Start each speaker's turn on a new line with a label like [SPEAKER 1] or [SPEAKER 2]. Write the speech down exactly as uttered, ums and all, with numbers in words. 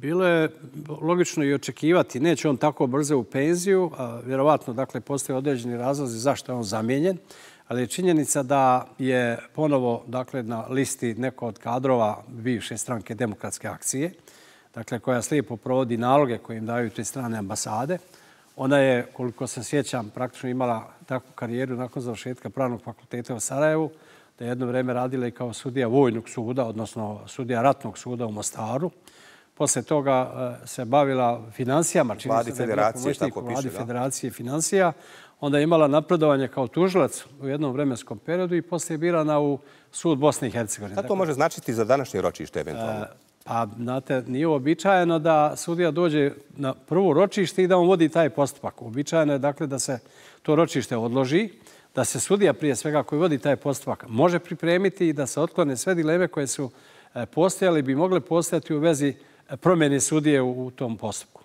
[SPEAKER 1] Bilo je logično i očekivati. Neće on tako brzo u penziju. Vjerovatno, dakle, postoje određeni razlozi zašto je on zamijenjen. Ali je činjenica da je ponovo, dakle, na listi neko od kadrova bivše stranke Demokratske akcije, dakle, koja slijepo provodi naloge koje im daju te strane ambasade. Ona je, koliko se sjećam, praktično imala takvu karijeru nakon završetka Pravnog fakulteta u Sarajevu, da je jedno vrijeme radila i kao sudija vojnog suda, odnosno sudija ratnog suda u Mostaru. Poslije toga se bavila financijama, čini se da je bila pomoćnik u vladi Federacije financija. Onda je imala napredovanje kao tužilac u jednom vremenskom periodu i poslije je birana u sud Bosne i Hercegovine.
[SPEAKER 2] Šta to može značiti za današnje ročište eventualno?
[SPEAKER 1] Pa, znate, nije uobičajeno da sudija dođe na prvo ročište i da on vodi taj postupak. Uobičajeno je, dakle, da se to ročište odloži, da se sudija prije svega koji vodi taj postupak može pripremiti i da se otklone sve dileme koje su postojale bi mogle postojati u vezi promjene sudije u tom postupku.